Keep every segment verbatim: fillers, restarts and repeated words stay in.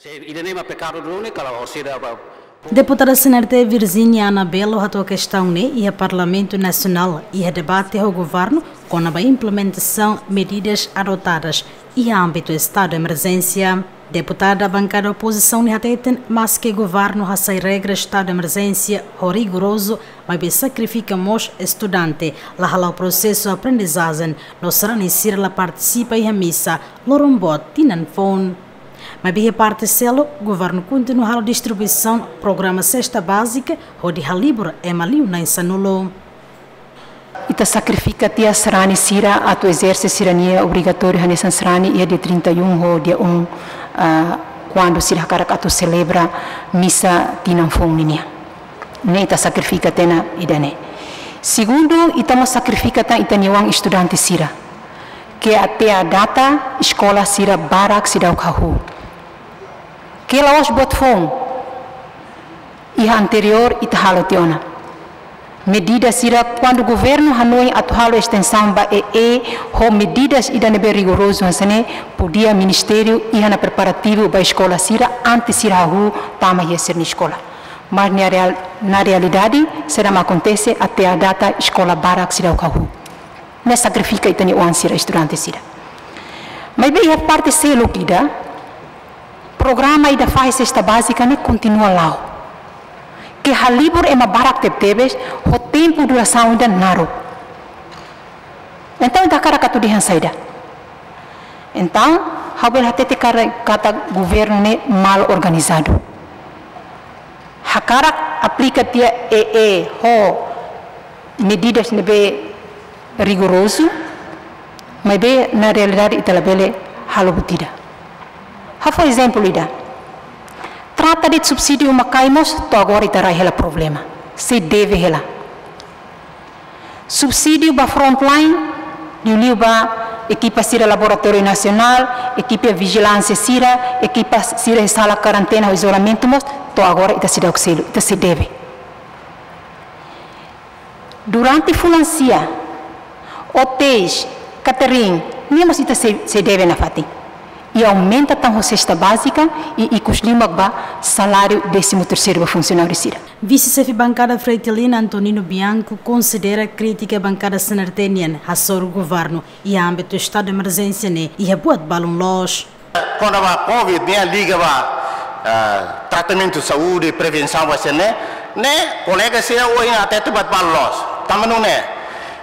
Se ida-ne'e mak pekadu duni, kalau orsida ba. Deputada C N R T Virginia Anabelo hato'o kestaun ne'e iha Parlamentu Nasionál iha debate ho governu kona-ba implementasaun medidas adotadas iha ámbitu estadu emerjénsia. Deputada bankada opozisaun ne'e hateten, maske governu hasai regra estadu emerjénsia ho rigorozu, maibé sakrifika mós estudante, la hala'o prosesu aprendizajen, no sarani sira la partisipa iha misa loron boot tinan foun. Maibé iha parte seluk, governu kontinua halo distribuisaun programa sesta bázika, hodi halibur ema liu na'in sanulu. Ita sakrifika tiha sarani sira atu ezerse sira-nia obrigatóriu hanesan sarani iha dia trinta e um ho dia um, ah, kuandu sira hakarak atu selebra misa tinan foun ninian. Ne'e ita sakrifika tiha ona ida-ne'e. Segundu, ita mós sakrifika tan ita-nia oan estudante sira, ke até à data eskola sira barak seidauk hahú. Ke la'ós buat foun. Iha anteriór ita halo tiha ona. Medida sira kuandu governu hanoin atu halo estensaun ba E E ho medidas ida ne'ebé rigorozu hanesan ne'e, podia ministériu iha ona preparativu ba eskola sira antes sira hahú tama iha sira-nia eskola. Mas na real-, na realidade, seidauk mak akontese até à data eskola barak seidauk hahú. Ne'e sakrifika ita-nia oan sira, estudante sira. Maibé iha parte seluk ida, programa ida fahe sesta bázika ne'e kontinua la'o. Ke halibur ema barak tebetebes, ho tempu durasaun ida naruk. Entaun, ita hakarak atu dehan saida? Entaun, ha'u bele hatete katak, katak governu ne'e mal organizadu. Hakarak aplika tiha E E ho medidas ne'ebé rigorozu, maibé na realidade ita labele halo buat ida. Ha'u fó ezemplu ida. Trata de subsídiu uma-kain mós to'o agora ita rai hela problema. Sei debe hela. Subsídiu ba frontline, liuliu ba ekipa sira Laboratóriu Nasionál, ekipa vijilánsia sira, ekipa sira sala karentena ho izolamentu mós, to'o agora ita seidauk selu, ita sei debe. Durante fulan sia, hotéis, catering, ne'e mós ita sei, sei debe nafatin. I aumenta tan ho sesta bázika i, i ikus liu mak ba saláriu décimo terceiro ba funsionáriu sira. Vise-xefe bankada Fretilin, Antonino Bianco, konsidera krítika bankada C N R T nian hasoru governu iha ámbitu estadu de emerjénsia ne'e iha buat balun loos. Kona-ba covid ne'e liga ba, ah, tratamentu saúde, prevensaun ba sira-ne'e, ne'e kolega sira ohin hatete buat balun loos. Tanba nune'e,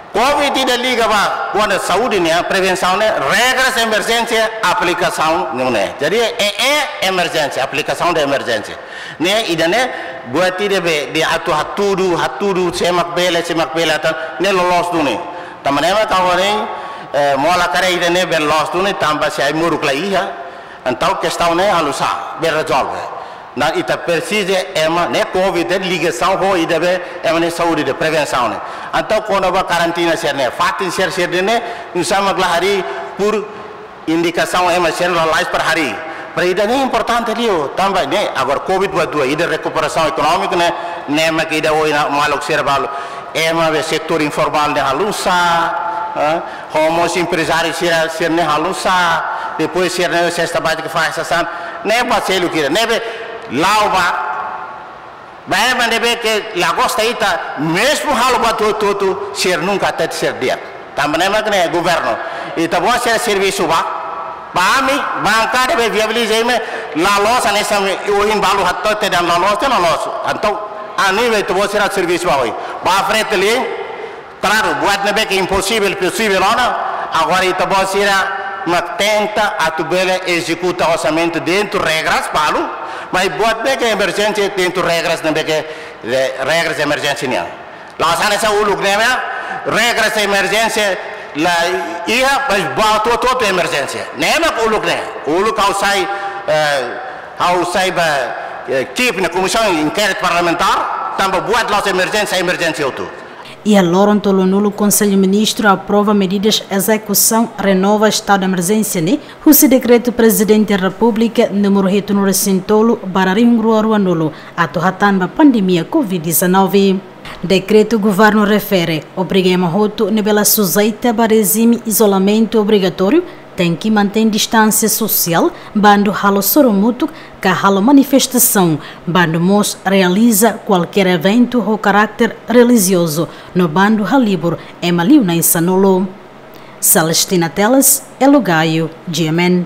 covid ida liga ba kuandu saúde ne'e, prevensaun ne'e, regras emerjénsia aplikasaun nune'e. Jadi, E E emerjénsia, aplikasaun de emerjénsia. Ne'e ida-ne'e buat ida be, de atu hatudu, hatudu, sé mak bele, sé mak bele, atan, ne'e loloos duni. Tanba ne'e mak agora ne'e, eh, mola kare ida-ne'e be loos duni, tanba se ai-moruk la iha, entaun kestaun ne'e halo sá, be rezolve. Ne'e ita presiza ema, ne'e covid ne'e ligasaun ho ida be, ema nia saúde de prevensaun ne'e. Entaun kona-ba karantina sira-ne'e, fatin sira, sira-ne'e, nusá mak la harii por indikasaun ema sira lalais para harii. Para ida-ne'e importante liu, tanba ne'e, agora covid ba dua, ida rekuperasaun ekonómika ne'e, ne'e mak ida ohin maluk sira balu. Ema be setór informál ne'e halo sá, eh, ho mós emprezáriu sira, sira-ne'e halo sá, depois sira-ne'e sesta bázika fase sasán, ne'e ba selu kira, ne'e be la'o ba, ba ema ne'ebé ke la gosta ita, mezmu halo buat hotu-hotu, sira nunka hatete sira di'ak. Tanba ne'e mak ne'e governu. Ita-boot sira servisu ba, ba ami, bankada be viabiliza imi, la loos, hanesan ohin balu hatete dehan la loos, la loos. Entaun, ami be ita-boot sira servisu ba ohin. Ba Fretilin, klaru, buat ne'ebé ke imposivel, posivel ona, agora ita-boot sira mak tenta atu bele ezekuta orsamentu dentru regras balu, maibé buat ne'ebé ke emerjénsia dentru regras ne'ebé ke, eh, regras emerjénsia nian. La'ós hanesan uluk ne'e, regras emerjénsia la iha, maibé ba hotu-hotu emerjénsia. Ne'e mak uluk ne'e, uluk ha'u sai, eh, ha'u sai ba, eh, Kiev nia komisaun inkéritu parlamentár, tanba buat la'ós emerjénsia, emerjénsia hotu. Iha loron tolunulu, Konsellu Ministru aprova medidas ezekusaun renova estadu de emerjénsia ne'e, husi dekretu Prezidente Repúblika númeru hitunulu-resin-tolu barra rihun rua ruanulu, atu hatán ba pandemia covid dezanove. Dekretu governu refere, obriga ema hotu ne'ebé la sujeita ba rejime izolamentu obrigatóriu, Tenke mantein distánsia sosiál bandu halo sorumutuk ka halo manifestasaun, bandu mós realiza kualkér eventu ho karákter relijiozu no bandu halibur ema liu na'in-sanulu. Celestina Teles, Elo Gayo, G M N.